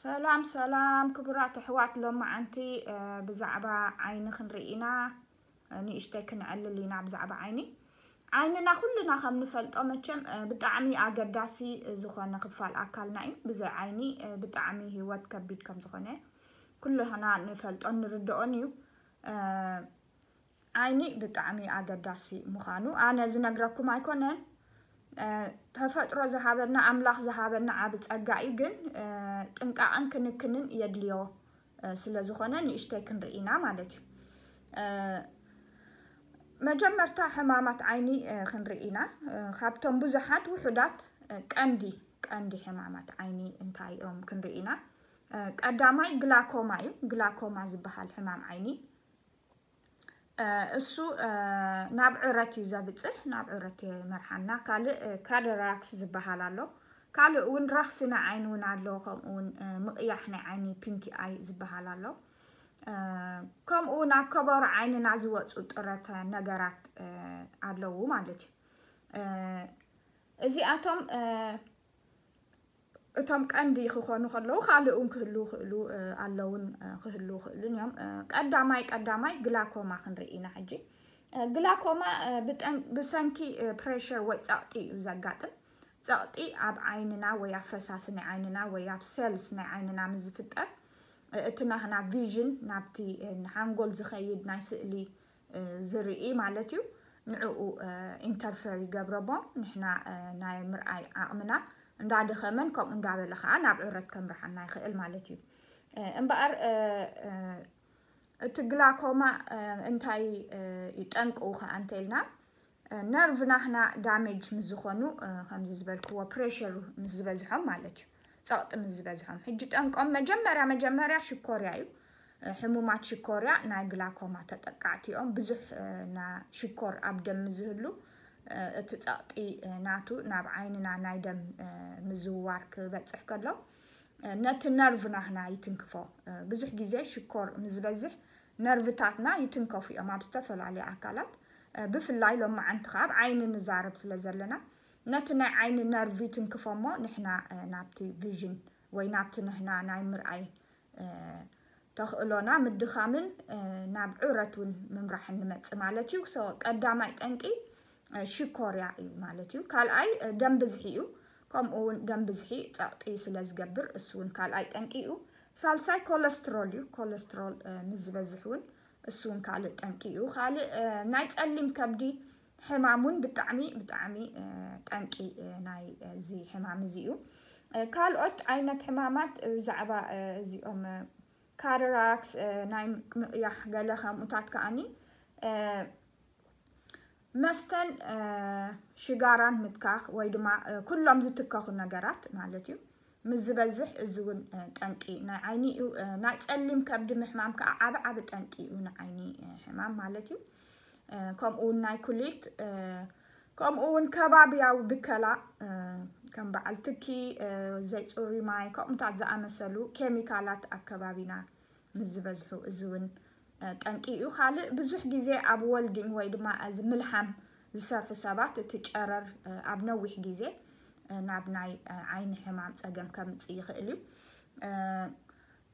ሰላም ሰላም ክቡራት ኣሕዋት፣ ሎማዓንቲ ብዛዕባ ዓይኒ ክንርኢ ኢና። ንእሽተይ ክንዕልል ኢና ብዛዕባ ዓይኒ። ዓይንና ኩልና ከም ንፈልጦ መቸም ብጣዕሚ ኣገዳሲ ዝኾነ ክፋል ኣካልና እዩ። ብዘይ ዓይኒ ብጣዕሚ ህይወት ከቢድ ከም ዝኾነ ኩልና ንፈልጦን ንርድኦን እዩ። ዓይኒ ብጣዕሚ ኣገዳሲ ምዃኑ ኣነ ዝነግረኩም ኣይኮነን። ተፈጥሮ ዝሃበና፣ ኣምላኽ ዝሃበና ዓቢ ጸጋ እዩ። ግን ጥንቃቕን ክንክንን የድልዮ ስለ ዝኾነ ንእሽተይ ክንርኢ ኢና ማለት እዩ። መጀመርታ ሕማማት ዓይኒ ክንርኢ ኢና። ካብቶም ብዙሓት ውሑዳት ቀንዲ ቀንዲ ሕማማት ዓይኒ እንታይ እዮም ክንርኢ ኢና። ቀዳማይ ግላኮማ እዩ። ግላኮማ ዝበሃል ሕማም ዓይኒ እሱ ናብ ዕረት እዩ ዘብፅሕ፣ ናብ ዕረት የመርሓና። ካልእ ካደራክስ ዝበሃል ኣሎ። ካልእ እውን ረኽሲ ናይ ዓይኒ እውን ኣሎ። ከምኡ እውን ምቕያሕ ናይ ዓይኒ፣ ፒንኪ ኣይ ዝበሃል ኣሎ። ከምኡ እውን ኣብ ከበሮ ዓይንና ዝወፁ ጥረተ ነገራት ኣለዉ ማለት እዩ። እዚኣቶም እቶም ቀንዲ ክኾኑ ከለዉ ካልእ እውን ክህሉ ክእሉ ኣለውን ክህሉ ክእሉን እዮም። ቀዳማይ ቀዳማይ ግላኮማ ክንርኢ ኢና ሕጂ። ግላኮማ ብሰንኪ ፕሬሸር ወይ ፀቕጢ እዩ ዘጋጥም። ፀቕጢ ኣብ ዓይንና ወይ ኣብ ፈሳሲ ናይ ዓይንና ወይ ኣብ ሴልስ ናይ ዓይንና ምስ ዝፍጠር እቲ ናህና ቪዥን ናብቲ ሓንጎል ዝኸይድ ናይ ስእሊ ዝርኢ ማለት እዩ። ንዕኡ ኢንተርፌር ይገብረሞ፣ ንሕና ናይ ምርኣይ ዓቕምና እንዳደኸመን ከምኡ እንዳበለ ከዓ ናብ ዕረት ከምርሓና ይኽእል ማለት እዩ። እምበኣር እቲ ግላኮማ እንታይ ይጠንቅኡ ከዓ እንተኢልና፣ ነርቭ ናህና ዳሜጅ ምስ ዝኾኑ፣ ከምዚ ዝበልክዎ ፕሬሸር ምስ ዝበዝሖም ማለት እዩ፣ ፀቕጢ ምስ ዝበዝሖም። ሕጂ ጠንቆም መጀመርያ መጀመርያ ሽኮርያ እዩ። ሕሙማት ሽኮርያ ናይ ግላኮማ ተጠቃዕቲ እዮም። ብዙሕ ሽኮር ኣብ ደም ዝህሉ፣ እቲ ፀቕጢ ናቱ ናብ ዓይንና ናይ ደም ምዝውዋር ክበፅሕ ከሎ ነቲ ነርቭ ናህና ይትንክፎ። ብዙሕ ግዜ ሽኮር ምስ ዝበዝሕ ነርቭታትና ይትንከፉ እዮም ኣብ ዝተፈላለዩ ኣካላት። ብፍላይ ሎማዓንቲ ከዓ ኣብ ዓይኒ ንዛረብ ስለ ዘለና ነቲ ናይ ዓይኒ ነርቭ ይትንክፎ እሞ ንሕና ናብቲ ቪዥን ወይ ናብቲ ንሕና ናይ ምርኣይ ተኽእሎና ምድኻምን ናብ ዕረት እውን ምምራሕ እንመፅእ ማለት እዩ። ቀዳማይ ጠንቂ ሽኮርያ እዩ ማለት እዩ። ካልኣይ ደም ብዝሒ እዩ። ከምኡ እውን ደም ብዝሒ ፀቕጢ ስለ ዝገብር እሱ እውን ካልኣይ ጠንቂ እዩ። ሳልሳይ ኮለስትሮል እዩ። ኮለስትሮል ምስ ዝበዝሕ እውን እሱ እውን ካልእ ጠንቂ እዩ። ካልእ ናይ ፀሊም ከብዲ ሕማም እውን ብጣዕሚ ብጣዕሚ ጠንቂ ናይ እዚ ሕማም እዚ እዩ። ካልኦት ዓይነት ሕማማት ብዛዕባ እዚኦም ካደራክስ፣ ናይ ምቕያሕ ገለ ከምኡታት ከኣኒ መስተን ሽጋራን ምትካኽ ወይ ድማ ኩሎም ዝትከኹ ነገራት ማለት እዩ። ምስ ዝበዝሕ እዚ እውን ጠንቂ ናይ ዓይኒ እዩ። ናይ ፀሊም ከብዲ ምሕማም ከዓ ዓቢ ዓቢ ጠንቂ እዩ ንዓይኒ ሕማም ማለት እዩ። ከምኡ እውን ናይ ኩሊት፣ ከምኡ እውን ከባብያዊ ብከላ፣ ከም በዓል ትኪ፣ ዘይፅሩይ ማይ፣ ከምኡታት ዝኣመሰሉ ኬሚካላት ኣብ ከባቢና ምስ ዝበዝሑ እዚ እውን ጠንቂ እዩ። ካልእ ብዙሕ ግዜ ኣብ ወልዲንግ ወይ ድማ እዚ ምልሓም ዝሰርሑ ሰባት እቲ ጨረር ኣብ ነዊሕ ግዜ ናብ ናይ ዓይኒ ሕማም ፀገም ከምፅእ ይኽእል እዩ።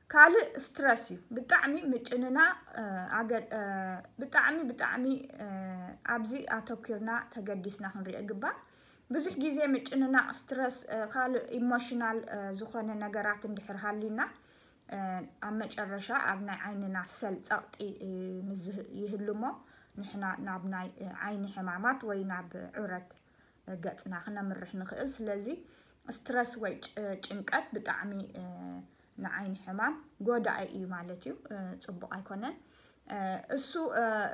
ካልእ ስትረስ እዩ። ብጣዕሚ ምጭንናቕ፣ ብጣዕሚ ብጣዕሚ ኣብዚ ኣተኪርና ተገዲስና ክንሪኦ ይግባእ። ብዙሕ ግዜ ምጭንናቕ፣ ስትረስ፣ ካልእ ኢሞሽናል ዝኾነ ነገራት እንድሕር ሃልዩና ኣብ መጨረሻ ኣብ ናይ ዓይንና ሰል ፀቕጢ ምስ ይህሉ እሞ ንሕና ናብ ናይ ዓይኒ ሕማማት ወይ ናብ ዕረት ገፅና ክነምርሕ ንኽእል። ስለዚ ስትረስ ወይ ጭንቀት ብጣዕሚ ንዓይኒ ሕማም ጎዳኢ እዩ ማለት እዩ። ፅቡቕ ኣይኮነን። እሱ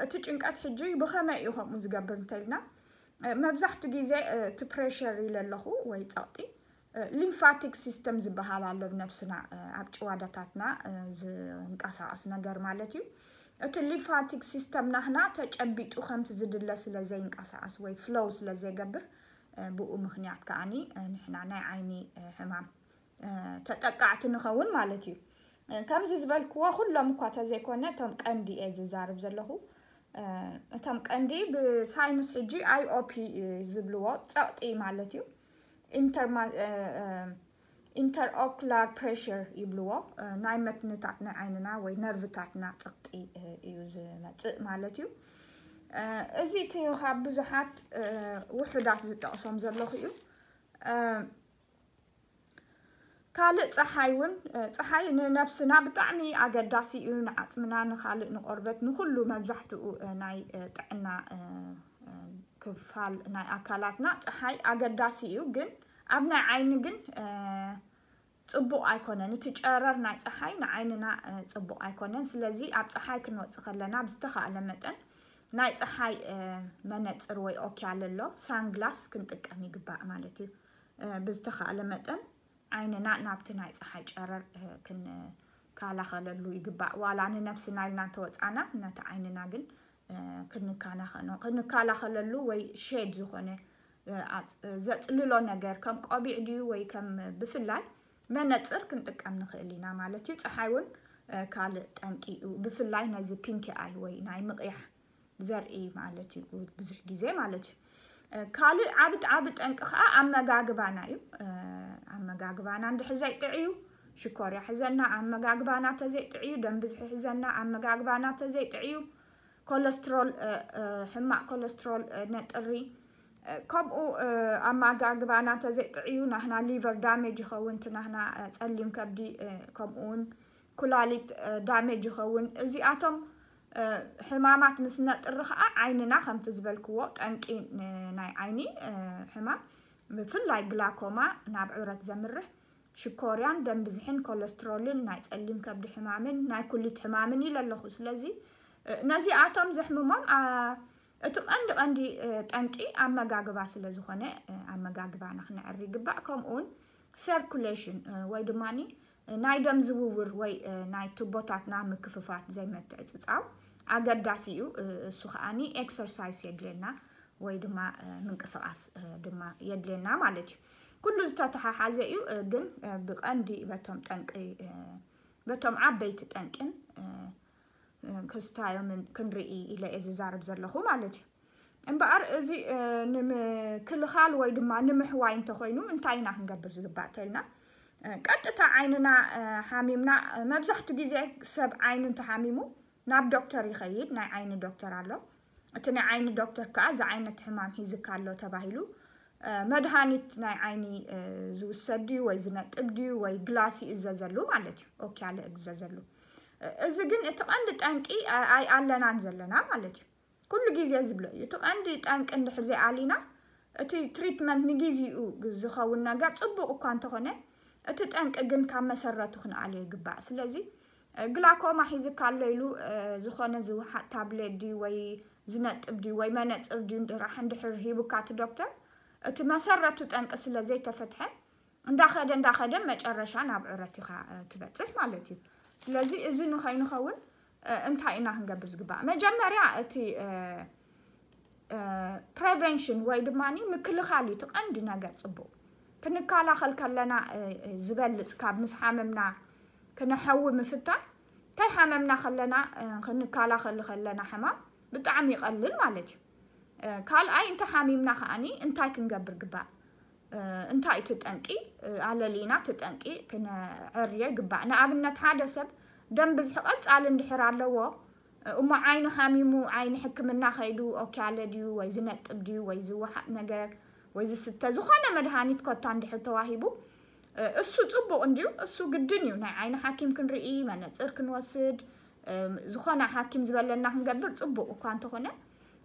እቲ ጭንቀት ሕጂ ብኸመይ እዩ ከምኡ ዝገብር እንተልና፣ መብዛሕትኡ ግዜ እቲ ፕሬሸር ኢለ ኣለኹ ወይ ፀቕጢ ሊምፋቲክ ሲስተም ዝበሃል ኣሎ ብነብስና ኣብ ጭዋዳታትና ዝንቀሳቐስ ነገር ማለት እዩ። እቲ ሊምፋቲክ ሲስተም ናህና ተጨቢጡ ከምቲ ዝድለ ስለ ዘይንቀሳቐስ ወይ ፍሎው ስለ ዘይገብር ብኡ ምኽንያት ከዓኒ ንሕና ናይ ዓይኒ ሕማም ተጠቃዕቲ ንኸውን ማለት እዩ። ከምዚ ዝበልክዎ ኩሎም እኳ ተዘይኮነ እቶም ቀንዲ እየ ዝዛርብ ዘለኹ። እቶም ቀንዲ ብሳይንስ ሕጂ ኣይ ኦ ፒ ዝብልዎ ፀቕጢ ማለት እዩ። ኢንተርማ- intraocular pressure ይብልዎ። ናይ መትንታት ናይ ዓይንና ወይ ነርቭታትና ጸቕጢ እዩ ዝመጽእ ማለት እዩ። እዚ እቲ ካብ ብዙሓት ውሑዳት ዝጠቕሶም ዘለኹ እዩ። ካልእ ጸሓይ እውን ጸሓይ ንነብስና ብጣዕሚ ኣገዳሲ እዩ። ንዓጽምና ንኻልእ ንቆርበት ንኹሉ መብዛሕትኡ ናይ ጥዕና ክፋል ናይ ኣካላትና ጸሓይ ኣገዳሲ እዩ። ግን ኣብ ናይ ዓይኒ ግን ጽቡቕ ኣይኮነን። እቲ ጨረር ናይ ጸሓይ ንዓይንና ጽቡቕ ኣይኮነን። ስለዚ ኣብ ጸሓይ ክንወጽእ ከለና ብዝተኻእለ መጠን ናይ ጸሓይ መነጽር ወይ ኦኪያል ኣሎ ሳንግላስ ክንጥቀም ይግባእ ማለት እዩ። ብዝተኻእለ መጠን ዓይንና ናብቲ ናይ ጸሓይ ጨረር ክንከላኸለሉ ይግባእ። ዋላ ንነብስና ኢልና እንተወጻና ነቲ ዓይንና ግን ክንከላኸለሉ ወይ ሼድ ዝኾነ ዘጽልሎ ነገር ከም ቆቢዕ ድዩ ወይ ከም ብፍላይ መነጽር ክንጥቀም ንኽእል ኢና ማለት እዩ። ጸሓይ እውን ካልእ ጠንቂ እዩ። ብፍላይ ነዚ ፒንኪ ኣይ ወይ ናይ ምቕያሕ ዘርኢ ማለት እዩ ብዙሕ ግዜ ማለት እዩ። ካልእ ዓቢ ዓቢ ጠንቂ ከዓ ኣመጋግባና እዩ። ኣመጋግባና እንድሕር ዘይጥዕዩ ሽኮርያ ሕዘና፣ ኣመጋግባና ተዘይጥዕዩ ደም ብዝሒ ሕዘና፣ ኣመጋግባና ተዘይጥዕዩ ኮለስትሮል ሕማቕ ኮለስትሮል ነጥሪ። ከምኡ ኣመጋግባና ተዘይጥዕዩ ናህና ሊቨር ዳሜጅ ይኸውን፣ እቲ ናህና ጸሊም ከብዲ ከምኡ እውን ኩላሊት ዳሜጅ ይኸውን። እዚኣቶም ሕማማት ምስ ነጥሪ ከዓ ዓይንና ከምቲ ዝበልክዎ ጠንቂ ናይ ዓይኒ ሕማም ብፍላይ ግላኮማ ናብ ዕረት ዘምርሕ ሽኮርያን ደም ብዝሕን ኮለስትሮልን ናይ ጸሊም ከብዲ ሕማምን ናይ ኩሊት ሕማምን ኢለ ኣለኹ። ስለዚ ነዚኣቶም ዘሕምሞም እቲ ቀንዲ ቀንዲ ጠንቂ ኣመጋግባ ስለ ዝኾነ ኣመጋግባና ክነዕሪ ይግባእ። ከምኡውን ሰርኩሌሽን ወይ ድማ ናይ ደም ዝውውር ወይ ናይ ቱቦታትና ምክፍፋት ዘይምትዕጽጻው ኣገዳሲ እዩ። እሱ ከዓኒ ኤክሰርሳይስ የድልየና ወይ ድማ ምንቅስቃስ ድማ የድልየና ማለት እዩ። ኩሉ ዝተተሓሓዘ እዩ። ግን ብቀንዲ በቶም ጠንቂ በቶም ዓበይቲ ጠንቅን ክስታዮምን ክንርኢ ኢለ እየ ዝዛረብ ዘለኹ ማለት እዩ። እምበኣር እዚ ንምክልኻል ወይ ድማ ንምሕዋይ እንተኮይኑ እንታይ ኢና ክንገብር ዝግባእ ተልና ቀጥታ ዓይንና ሓሚምና መብዛሕቱ ግዜ ሰብ ዓይኑ እንተሓሚሙ ናብ ዶክተር ይኸይድ። ናይ ዓይኒ ዶክተር ኣሎ። እቲ ናይ ዓይኒ ዶክተር ከዓ እዚ ዓይነት ሕማም ሒዝካ ኣሎ ተባሂሉ መድሃኒት ናይ ዓይኒ ዝውሰድ ድዩ ወይ ዝነጥብ ድዩ ወይ ግላሲ እዘዘሉ ማለት እዩ። ኦኪያለ እዘዘሉ። እዚ ግን እቲ ቀንዲ ጠንቂ ኣይ ኣለናን ዘለና ማለት እዩ። ኩሉ ግዜ ዝብሎ እዩ። እቲ ቀንዲ ጠንቂ እንድሕር ዘይኣሊና እቲ ትሪትመንት ንግዜኡ ዝኸውን ነገር ጽቡቕ እኳ እንተኾነ እቲ ጠንቂ ግን ካብ መሰረቱ ክንኣልዮ ይግባእ። ስለዚ ግላኮማ ሒዝካ ኣሎ ኢሉ ዝኾነ ዝውሓጥ ታብሌት ድዩ ወይ ዝነጥብ ድዩ ወይ መነፅር ድዩ ጥራሕ እንድሕር ሂቡካ እቲ ዶክተር እቲ መሰረቱ ጠንቂ ስለ ዘይተፈትሐ እንዳኸደ እንዳኸደ መጨረሻ ናብ ዕረት ኢኻ ትበፅሕ ማለት እዩ። ስለዚ እዚ ንኸይንኸውን እንታይ ኢና ክንገብር ዝግባእ? መጀመርያ እቲ ፕሬቨንሽን ወይ ድማ ምክልኻል እዩ እቲ ቀንዲ ነገር። ፅቡቕ ክንከላኸል ከለና ዝበልፅ ካብ ምስ ሓመምና ክነሐዊ ምፍታን፣ ከይሓመምና ከለና ክንከላኸል ከለና ሕማም ብጣዕሚ ይቐልል ማለት እዩ። ካልኣይ እንተ ሓሚምና ከዓኒ እንታይ ክንገብር ግባእ? እንታይ እቲ ጠንቂ ኣለሊና እቲ ጠንቂ ክነዐርዮ ይግባእ። ንኣብነት ሓደ ሰብ ደም ብዝሒ ቀፃሊ እንድሕር ኣለዎ እሞ ዓይኑ ሓሚሙ ዓይኒ ሕክምና ከይዱ ኦኪያለ ድዩ ወይ ዝነጥብ ድዩ ወይ ዝወሓጥ ነገር ወይ ዝስተ ዝኾነ መድሃኒት ኮታ እንድሕር ተዋሂቡ እሱ ፅቡቕ እንድዩ። እሱ ግድን እዩ ናይ ዓይኒ ሓኪም ክንርኢ መነፅር ክንወስድ ዝኾነ ሓኪም ዝበለና ክንገብር ፅቡቕ እኳ እንተኾነ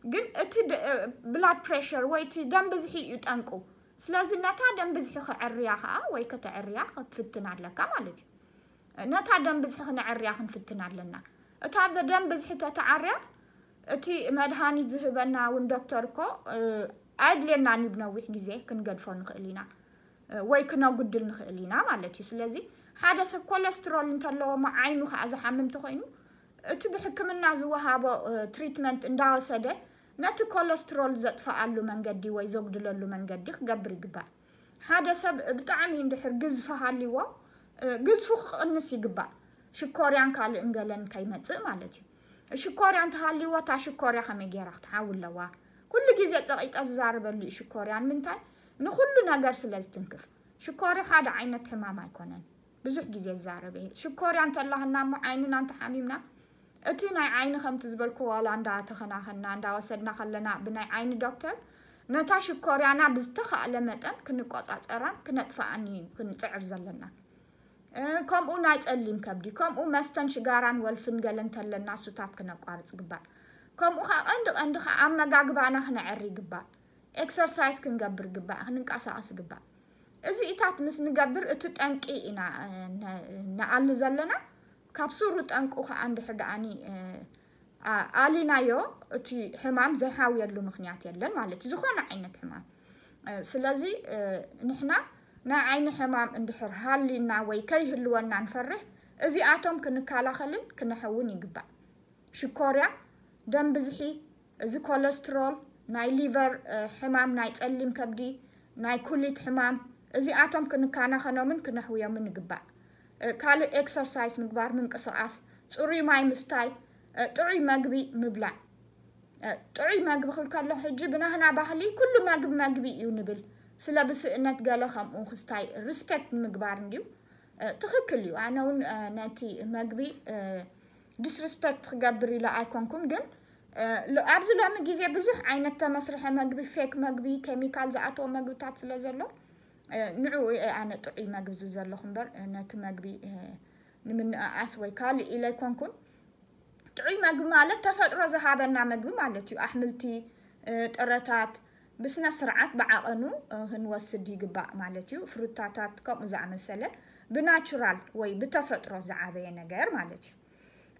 ግን እቲ ብላድ ፕሬሸር ወይ እቲ ደም ብዝሒ እዩ ጠንቁ። ስለዚ ነታ ደም ብዝሒ ክዕርያ ከዓ ወይ ከተዕርያ ክትፍትን ኣለካ ማለት እዩ። ነታ ደም ብዝሒ ክነዕርያ ክንፍትን ኣለና። እታ ደም ብዝሒ ተተዓርያ እቲ መድሃኒት ዝህበና እውን ዶክተር እኮ ኣየድልየናን እዩ። ብነዊሕ ግዜ ክንገድፎ ንኽእል ኢና ወይ ክነጉድል ንኽእል ኢና ማለት እዩ። ስለዚ ሓደ ሰብ ኮለስትሮል እንተለዎ እሞ ዓይኑ ከዓ ዝሓምም ተኮይኑ እቲ ብሕክምና ዝወሃቦ ትሪትመንት እንዳወሰደ ነቲ ኮለስትሮል ዘጥፍኣሉ መንገዲ ወይ ዘጉድለሉ መንገዲ ክገብር ይግባእ። ሓደ ሰብ ብጣዕሚ እንድሕር ግዝፊ ሃልይዎ ግዝፉ ክቕንስ ይግባእ። ሽኮርያን ካልእን ገለን ከይመፅእ ማለት እዩ። ሽኮርያ እንተሃልይዎ እታ ሽኮርያ ከመይ ገይራ ክትሓዊ ኣለዋ? ኩሉ ግዜ ፀቒጠ ዝዛረበሉ እዩ ሽኮርያ። ንምንታይ? ንኩሉ ነገር ስለ ዝትንክፍ። ሽኮርያ ሓደ ዓይነት ሕማም ኣይኮነን። ብዙሕ ግዜ ዝዛረብ እየ። ሽኮርያ እንተላህና እሞ ዓይንና እንተሓሚምና፣ እቲ ናይ ዓይኒ ከምቲ ዝበልኩ ዋላ እንዳተኸናኸና፣ እንዳወሰድና ከለና ብናይ ዓይኒ ዶክተር፣ ነታ ሽኮርያና ብዝተኻእለ መጠን ክንቆጻጸራን ክነጥፍኣን እዩ ክንጽዕር ዘለና። እ፣ ከምኡ ናይ ጸሊም ከብዲ፣ ከምኡ መስተን ሽጋራን ወልፍን ገለ እንተለና እሱታት ክነቋርጽ ግባእ። ከምኡ ኸዓ ቀንዲ ቀንዲ ኸዓ ኣመጋግባና ክነዐሪ ግባእ። ኤክሰርሳይዝ ክንገብር ግባእ፣ ክንንቀሳቐስ ግባእ። እዚኢታት ምስ ንገብር እቲ ጠንቂ ኢና፣ እ፣ ነ-፣ ንኣሊ ዘለና። ካብ ሱሩ ጠንቁ ኸዓ እንድሕር ደኣኒ፣ እ፣ ኣ-፣ ኣሊናዮ፣ እቲ ሕማም ዘይሓውየሉ ምኽንያት የለን ማለት እዩ፣ ዝኾነ ዓይነት ሕማም። እ፣ ስለዚ፣ እ፣ ንሕና ናይ ዓይኒ ሕማም እንድሕር ሃሊና ወይ ከይህልወና ንፈርሕ፣ እዚኣቶም ክንከላኸልን ክነሕውን ይግባእ። ሽኮርያ፣ ደም ብዝሒ፣ እዚ ኮለስትሮል፣ ናይ ሊቨር፣ እ፣ ሕማም፣ ናይ ጸሊም ከብዲ፣ ናይ ኩሊት ሕማም፣ እዚኣቶም ክንከናኸኖምን ክነሕውዮምን ይግባእ። እ፣ ካልእ ኤክሰርሳይዝ ምግባር፣ ምንቅስቓስ፣ ጽሩይ ማይ ምስታይ፣ እ፣ ጥዑይ መግቢ ምብላዕ። እ፣ ጥዑይ መግቢ ክብል ከለኹ ሕጂ ብናህና ባህሊ ኩሉ መግቢ መግቢ እዩ ንብል። ስለ ብስእነት ገለ ከምኡ ክስታይ ሪስፔክት ንምግባር እንድዩ። እ፣ ትኽክል እዩ። ኣነ እውን፣ እ፣ ነቲ መግቢ፣ እ፣ ዲስሪስፔክት ክገብር ኢለ ኣይኮንኩን፣ ግን፣ እ፣ ሎ-፣ ኣብዚ ሎሚ ግዜ ብዙሕ ዓይነት ተመስርሐ መግቢ፣ ፌክ መግቢ፣ ኬሚካል ዝኣተዎ መግብታት ስለ ዘሎ፣ እ፣ ንዕኡ እየ ኣነ ጥዑይ መግቢ ዝብል ዘለኹ እምበር፣ እ፣ ነቲ መግቢ፣ እ፣ ንምንእኣስ ወይ ካልእ ኢለ ኣይኮንኩን። ጥዑይ መግቢ ማለት ተፈጥሮ ዝሃበና መግቢ ማለት እዩ። ኣሕምልቲ፣ እ፣ ጥረታት ብስነ ስርዓት ብዓቐኑ፣ እ፣ ክንወስድ ይግባእ ማለት እዩ። ፍሩታታት ከምኡ ዝኣመሰለ ብናቹራል ወይ ብተፈጥሮ ዝዓበየ ነገር ማለት እዩ።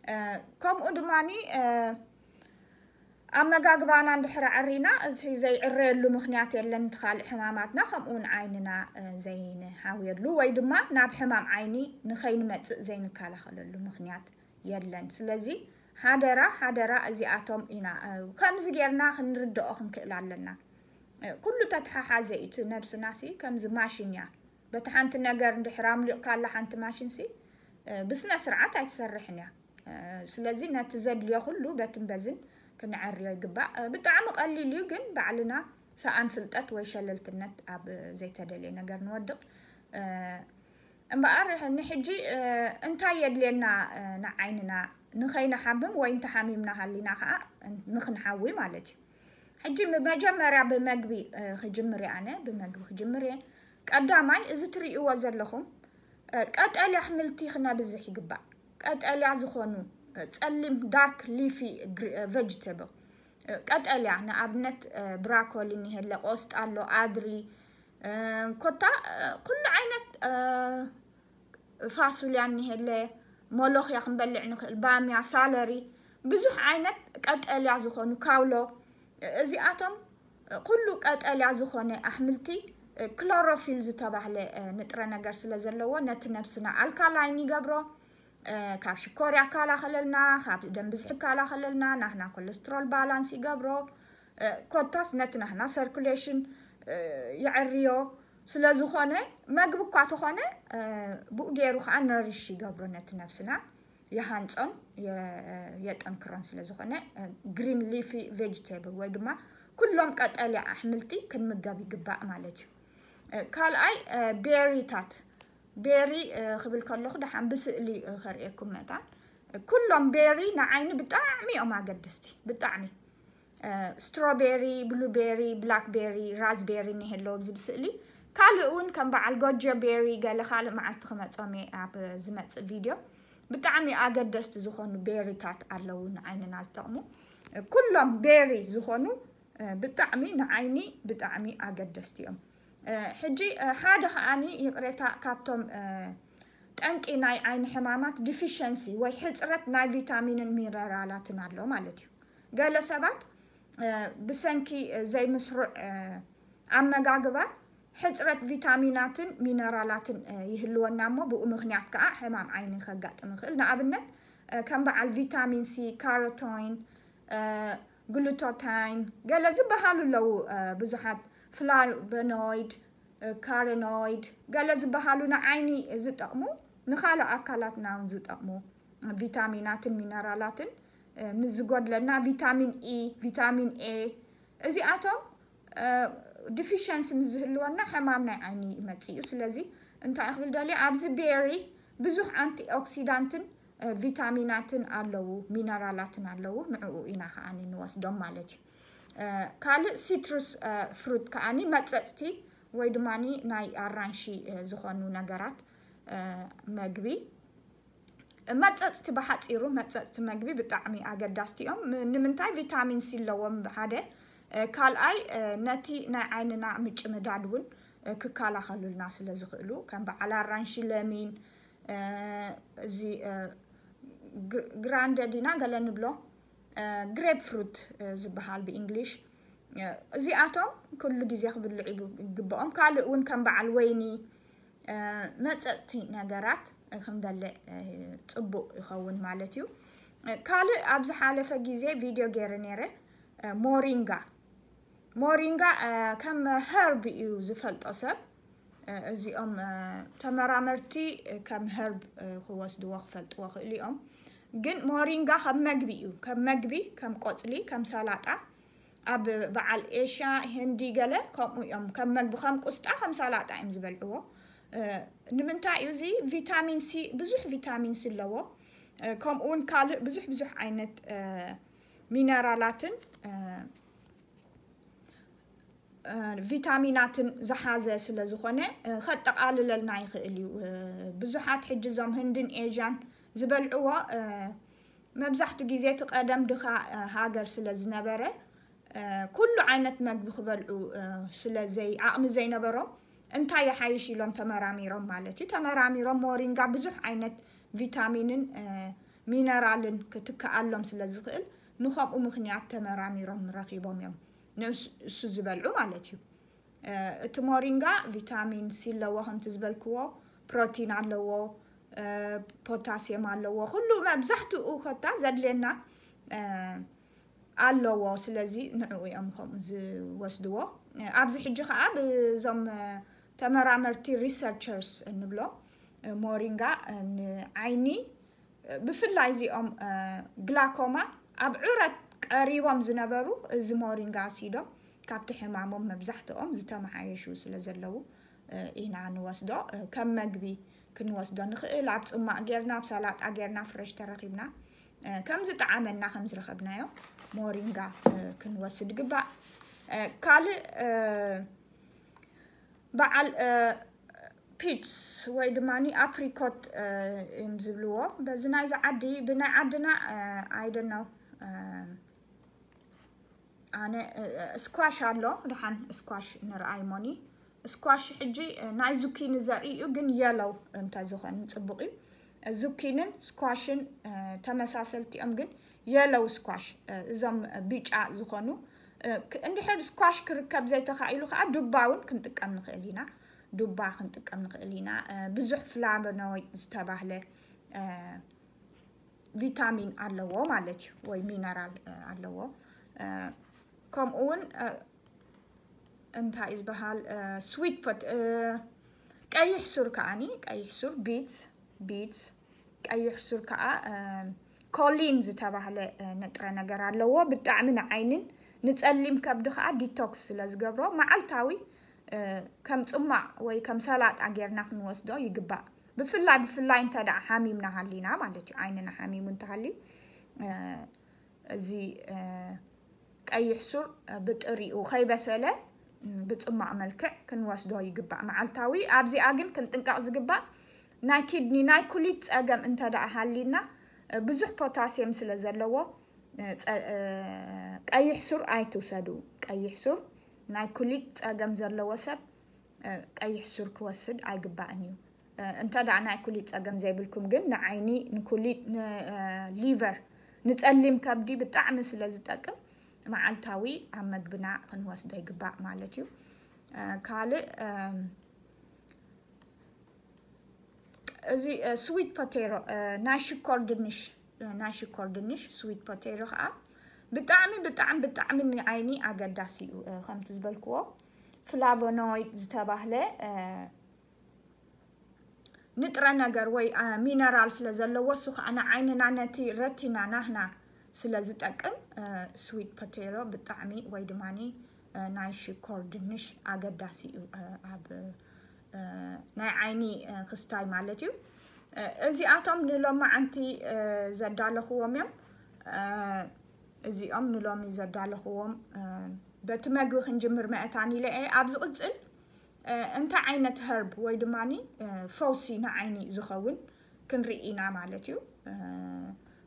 እ፣ ከምኡ ድማኒ፣ እ፣ ኣመጋግባና እንድሕር ኣዕሪና እቲ ዘይዕረየሉ ምኽንያት የለን። እቲ ካልእ ሕማማትና ከምኡ እውን ዓይንና፣ እ፣ ዘይንሓውየሉ ወይ ድማ ናብ ሕማም ዓይኒ ንኸይንመጽእ ዘይንከላኸለሉ ምኽንያት የለን። ስለዚ ሓደራ፣ ሓደራ እዚኣቶም ኢና፣ እ፣ ከምዚ ጌርና ክንርድኦ ክንክእል ኣለና። እ፣ ኩሉ ተተሓሓዘ እዩ። እቲ ነብስናሲ ከምዚ ማሽን እያ። በቲ ሓንቲ ነገር እንድሕር ኣምሊቕካላ ሓንቲ ማሽንሲ፣ እ፣ ብስነ ስርዓት ኣይትሰርሕን እያ። እ፣ ስለዚ ነቲ ዘድልዮ ኩሉ በትን በዝን ክንዐርዮ ይግባእ። እ፣ ብጣዕሚ ቀሊል እዩ፣ ግን ባዕልና ሰኣን ፍልጠት ወይ ሸለልትነት ኣብ ዘይተደልየ ነገር ንወድቕ። እ፣ እምበኣር ንሕጂ፣ እ፣ እንታይ የድልየና፣ እ፣ ንዓይንና ንኸይንሓምም ወይ እንተሓሚምና ሃሊና ኸዓ ንኽንሓዊ ማለት እዩ። ሕጂ መጀመርያ ብመግቢ፣ እ፣ ክጅምር እየ ኣነ፣ ብመግቢ ክጅምር እየ። ቀዳማይ፣ እዚ ትርእይዎ ዘለኹም፣ እ፣ ቀጠልያ ኣሕምልቲ ክነብዝሕ ይግባእ። ቀጠልያ ዝኾኑ፣ እ፣ ጸሊም፣ ዳርክ ሊፊ ግሪ-፣ እ፣ ቨጅተብል፣ እ፣ ቀጠልያ፣ ንኣብነት፣ እ፣ ብራኮሊ እኒሄለ፣ ቆስጣ ኣሎ፣ ኣድሪ፣ እ፣ ኮታ፣ እ፣ ኩሉ ዓይነት፣ እ፣ ፋሱልያ እኒሄለ፣ ሞሎኽያ ክንበልዕ ንኽእል፣ ባምያ፣ ሳለሪ፣ ብዙሕ ዓይነት ቀጠልያ ዝኾኑ፣ ካውሎ፣ እዚኣቶም ኩሉ ቀጠልያ ዝኾነ ኣሕምልቲ፣ ክሎሮፊል ዝተባህለ ንጥረ ነገር ስለ ዘለዎ፣ ነቲ ነብስና ኣልካላይን ይገብሮ። ካብ ሽኮር ያከላኸለልና፣ ካብ ደም ብዝሒ ይከላኸለልና፣ ናህና ኮለስትሮል ባላንስ ይገብሮ። ኮታስ ነቲ ናህና ሰርኩሌሽን የዕርዮ። ስለ ዝኾነ፣ መግቢ እኳ ተኾነ፣ ብኡ ገይሩ ኸዓ ነሪሽ ይገብሮ ነቲ ነብስና። የሃንጾን የ-፣ የጠንክሮን ስለ ዝኾነ፣ ግሪን ሊፊ ቬጅቴብል ወይ ድማ ኩሎም ቀጠልያ ኣሕምልቲ ክንምገብ ይግባእ ማለት እዩ። ካልኣይ፣ ቤሪታት። ቤሪ ክብል ከለኹ ደሓን ብስእሊ ከርእየኩም መታን። ኩሎም ቤሪ ንዓይኒ ብጣዕሚ እዮም ኣገደስቲ፣ ብጣዕሚ። ስትሮቤሪ፣ ብሉቤሪ፣ ብላክቤሪ፣ ራዝቤሪ እኒሀ ኣለዎ ኣብዚ ብስእሊ። ካልእ እውን ከም በዓል ጎጆ ቤሪ፣ ገለ ካልእ መዓልቲ ክመጾም እየ ኣብ ዝመጽእ ቪድዮ። ብጣዕሚ ኣገደስቲ ዝኾኑ ቤሪታት ኣለዉ ንዓይንና ዝጠቕሙ። ኩሎም ቤሪ ዝኾኑ፣ ብጣዕሚ ንዓይኒ ብጣዕሚ ኣገደስቲ እዮም። ሕጂ ሓደ ከዓኒ ይቕሬታ፣ ካብቶም ጠንቂ ናይ ዓይኒ ሕማማት ዲፊሸንሲ ወይ ሕጽረት ናይ ቪታሚንን ሚነራላትን ኣሎ ማለት እዩ። ገለ ሰባት ብሰንኪ ዘይምስሩዕ ኣመጋግባ ሕጽረት ቪታሚናትን ሚነራላትን ይህልወና እሞ፣ ብኡ ምኽንያት ከኣ ሕማም ዓይኒ ከጋጥም ይኽእል። ንኣብነት ከም በዓል ቪታሚን ሲ፣ ካሮቲን፣ ግሉታታይን፣ ገለ ዝበሃሉ ኣለዉ። ብዙሓት ፍላቮኖይድ፣ ካሮቲኖይድ፣ ገለ ዝበሃሉ ንዓይኒ ዝጠቕሙ፣ ንኻልእ ኣካላትና እውን ዝጠቕሙ ቪታሚናትን ሚነራላትን፣ እ፣ ምስ ዝጎድለና ቪታሚን ኢ፣ ቪታሚን ኤ፣ እዚኣቶም፣ እ፣ ዲፊሽንሲ ምስ ዝህልወና ሕማም ናይ ዓይኒ ይመጽእ እዩ። ስለዚ እንታይ ክብል ደልየ፣ ኣብዚ ቤሪ ብዙሕ ኣንቲ ኦክሲዳንትን እ፣ ቪታሚናትን ኣለዉ፣ ሚነራላትን ኣለዉ። ንዕኡ ኢና ከዓኒ ንወስዶም ማለት እዩ። እ፣ ካልእ ሲትሩስ ፍሩት ከዓኒ መጸጽቲ ወይ ድማ ናይ ኣራንሺ እ፣ ዝኾኑ ነገራት እ፣ መግቢ። መጸጽቲ ብሓጺሩ፣ መጸጽቲ መግቢ ብጣዕሚ ኣገዳስቲ እዮም። ም- ንምንታይ? ቪታሚን ሲ ኣለዎም ሓደ። እ፣ ካልኣይ እ፣ ነቲ ናይ ዓይንና ምጭምዳድ እውን እ፣ ክከላኸሉልና ስለ ዝኽእሉ፣ ከም በዓል ኣራንሺ፣ ለሚን፣ እ፣ እዚ እ፣ ግር- ግራንደ ዲና ገለ ንብሎ፣ እ፣ ግሬፕ ፍሩት እ፣ ዝበሃል ብእንግሊሽ። እ፣ እዚኣቶም ኩሉ ግዜ ክብልዑ ይግብኦም። ካልእ እውን ከም በዓል ወይኒ እ፣ መጸጥቲ ነገራት ክንበልዕ እ፣ ጽቡቕ ይኸውን ማለት እዩ። እ፣ ካልእ ኣብ ዝሓለፈ ግዜ ቪድዮ ገይረ ነይረ፣ እ፣ ሞሪንጋ። ሞሪንጋ እ፣ ከም ሀርብ እዩ ዝፈልጦ ሰብ። እ፣ እዚኦም እ፣ ተመራመርቲ እ፣ ከም ሀርብ እ፣ ክወስድዎ ክፈልጥዎ ክእሉ እዮም። ግን ሞሪንጋ ከም መግቢ እዩ፣ ከም መግቢ፣ ከም ቆጽሊ፣ ከም ሰላጣ። ኣብ በዓል ኤሽያ፣ ህንዲ ገለ ከምኡ እዮም። ከም መግቢ፣ ከም ቁስጣ፣ ከም ሰላጣ እዮም ዝበልዕዎ። እ፣ ንምንታይ እዩ እዚ? ቪታሚን ሲ፣ ብዙሕ ቪታሚን ሲ ኣለዎ። እ፣ ከምኡ እውን ካልእ ብዙሕ ብዙሕ ዓይነት እ፣ ሚነራላትን እ፣ እ፣ ቪታሚናትን ዝሓዘ ስለ ዝኾነ እ፣ ከጠቓልለልና ይኽእል እዩ። እ፣ ብዙሓት ሕጂ እዞም ህንድን ኤዥያን ዝበልዕዎ እ፣ መብዛሕትኡ ግዜ እቲ ቀደም ድኻ እ፣ ሃገር ስለ ዝነበረ እ፣ ኩሉ ዓይነት መግቢ ክበልዑ እ፣ ስለ ዘይ ዓቕሚ ዘይነበሮም እንታይ ይሓይሽ ኢሎም ተመራሚሮም ማለት እዩ። ተመራሚሮም ሞሪንጋ ብዙሕ ዓይነት ቪታሚንን እ፣ ሚነራልን ክትከኣሎም ስለ ዝኽእል ንኸምኡ ምኽንያት ተመራሚሮም ረኺቦም እዮም ንእስ- እሱ ዝበልዑ ማለት እዩ። እ፣ እቲ ሞሪንጋ ቪታሚን ሲ ኣለዎ፣ ከምቲ ዝበልክዎ ፕሮቲን ኣለዎ፣ እ፣ ፖታሲየም ኣለዎ። ኩሉ መብዛሕትኡ ኮታ ዘድልየና እ፣ ኣለዎ። ስለዚ ንዕኡ እዮም ከምኡ ዝወስድዎ። እ፣ ኣብዚ ሕጂ ከዓ ብዞም እ፣ ተመራመርቲ ሪሰርቸርስ እንብሎም እ፣ ሞሪንጋ እ፣ ንዓይኒ ብፍላይ እዚኦም እ፣ ግላኮማ ኣብ ዑረት ቀሪቦም ዝነበሩ እዚ ሞሪንጋ ወሲዶም ካብቲ ሕማሞም መብዛሕትኦም ዝተመሓየሹ ስለ ዘለዉ እ፣ ኢና ንወስዶ። እ፣ ከም መግቢ ክንወስዶ ንኽእል፣ ኣብ ጽማቕ ጌርና፣ ኣብ ሰላጣ ጌርና፣ ፍረሽ ተረኺብና እ፣ ከም ዝጠዓመና ከም ዝረኸብናዮ ሞሪንጋ እ፣ ክንወስድ ግባእ። እ፣ ካልእ እ፣ በዓል ፒችስ ወይ ድማ ኣፕሪኮት እዮም ዝብልዎ። በዚ ናይዚ ዓዲ ብናይ ዓድና ኣይደነው ኣነ ስኳሽ ኣሎ ድሓን ስኳሽ ንርኣይ ሞኒ። ስኳሽ ሕጂ ናይ ዙኪኒ ዘርኢ እዩ፣ ግን የለው እንተዝኾን ጽቡቕ እዩ። ዙኪንን ስኳሽን ተመሳሰልቲ እዮም፣ ግን የለው ስኳሽ እዞም ቢጫ ዝኾኑ። እንድሕር ስኳሽ ክርከብ ዘይተኻኢሉ ከዓ ዱባ እውን ክንጥቀም ንኽእል ኢና። ዱባ ክንጥቀም ንኽእል ኢና። ብዙሕ ፍላቮኖይድ ዝተባህለ ቪታሚን ኣለዎ ማለት እዩ፣ ወይ ሚነራል ኣለዎ። ከምኡ እውን እንታይ እዩ ዝበሃል? ስዊት ፖት ቀይሕ ሱር ከዓኒ፣ ቀይሕ ሱር፣ ቢትስ ቢትስ ቀይሕ ሱር ከዓ ኮሊን ዝተባህለ ንጥረ ነገር ኣለዎ። ብጣዕሚ ንዓይንን ንፀሊም ከብዲ ከዓ ዲቶክስ ስለ ዝገብሮ መዓልታዊ ከም ፅማቕ ወይ ከም ሰላጣ ጌርና ክንወስዶ ይግባእ። ብፍላይ ብፍላይ እንተ ደኣ ሓሚምና ሃሊና ማለት እዩ፣ ዓይንና ሓሚሙ እንተሃልዩ እዚ ቀይሕ ሱር ብጥሪኡ ከይበሰለ ብጽማቕ መልክዕ ክንወስዶ ይግባእ መዓልታዊ። ኣብዚኣ ግን ክንጥንቀቕ ዝግባእ ናይ ኪድኒ፣ ናይ ኩሊት ጸገም እንተ ደኣ ሃሊና፣ ብዙሕ ፖታሲየም ስለ ዘለዎ፣ ጸ-፣ ቀይሕ ሱር ኣይትውሰዱ። ቀይሕ ሱር ናይ ኩሊት ጸገም ዘለዎ ሰብ ቀይሕ ሱር ክወስድ ኣይግባእን እዩ። እንተ ደኣ ናይ ኩሊት ጸገም ዘይብልኩም ግን ንዓይኒ፣ ንኩሊት፣ ንሊቨር፣ ንጸሊም ከብዲ ብጣዕሚ ስለ ዝጠቅም መዓልታዊ ኣብ መግብና ክንወስዶ ይግባእ ማለት እዩ። ካልእ እዚ ስዊት ፖቴሮ፣ ናይ ሽኮር ድንሽ፣ ናይ ሽኮር ድንሽ ስዊት ፖቴሮ ከዓ ብጣዕሚ ብጣዕሚ ብጣዕሚ ንዓይኒ ኣገዳሲ እዩ። ከምቲ ዝበልክዎ ፍላቮኖይድ ዝተባህለ ንጥረ ነገር ወይ ሚነራል ስለ ዘለዎ፣ እሱ ከዓ ንዓይንና ነቲ ረቲና ናህና ስለ ዝጠቅም ስዊት ፖቴሮ ብጣዕሚ ወይ ድማ ናይ ሽኮር ድንሽ ኣገዳሲ እዩ ኣብ ናይ ዓይኒ ክስታይ ማለት እዩ። እዚኣቶም ንሎማዓንቲ ዘዳለኽዎም እዮም። እዚኦም ንሎሚ ዘዳለኽዎም በቲ መግቢ ክንጅምር መእታን ኢለ እየ። ኣብ ዝቕፅል እንታይ ዓይነት ሀርብ ወይ ድማ ፈውሲ ንዓይኒ ዝኸውን ክንርኢ ኢና ማለት እዩ።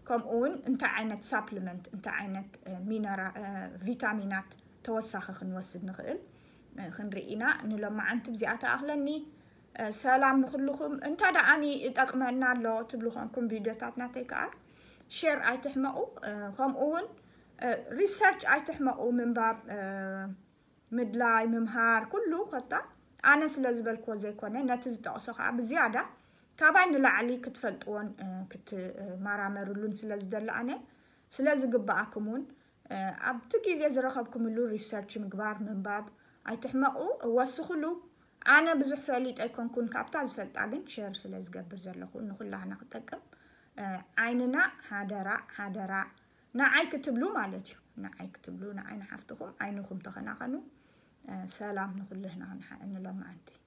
ከምኡ እውን እንታይ ዓይነት ሳፕሊመንት እንታይ ዓይነት ሚነራ ቪታሚናት ተወሳኺ ክንወስድ ንኽእል ክንርኢ ኢና። ንሎማዓንቲ ብዚኣ ተኣኽለኒ። ሰላም ንኹልኹም። እንተ ደኣኒ ይጠቕመና ኣሎ ትብሉ ኮንኩም ቪድዮታት ናተይ ከዓ ሼር ኣይትሕመቑ። ከምኡ እውን ሪሰርች ኣይትሕመቑ። ምንባብ ምድላይ ምምሃር ኩሉ ኮታ ኣነ ስለ ዝበልክዎ ዘይኮነ ነቲ ዝጠቕሶ ከዓ ብዝያዳ ካባይ ንላዕሊ ክትፈልጥዎን ክትመራመርሉን ስለ ዝደሊ ኣነ ስለ ዝግብኣኩም እውን ኣብቲ ግዜ ዝረኸብኩምሉ ሪሰርች ምግባር ምንባብ ኣይትሕመቑ። ወስኽሉ። ኣነ ብዙሕ ፈሊጠ ኣይኮንኩን ካብታ ዝፈልጣ ግን ሸር ስለ ዝገብር ዘለኹ ንኩላህና ክጠቅም። ዓይንና ሓደራ ሓደራ ንዓይ ክትብሉ ማለት እዩ። ንዓይ ክትብሉ ንዓይ ንሓፍትኹም ዓይንኹም ተኸናኸኑ። ሰላም ንኩልህና ንሎማዓንቲ።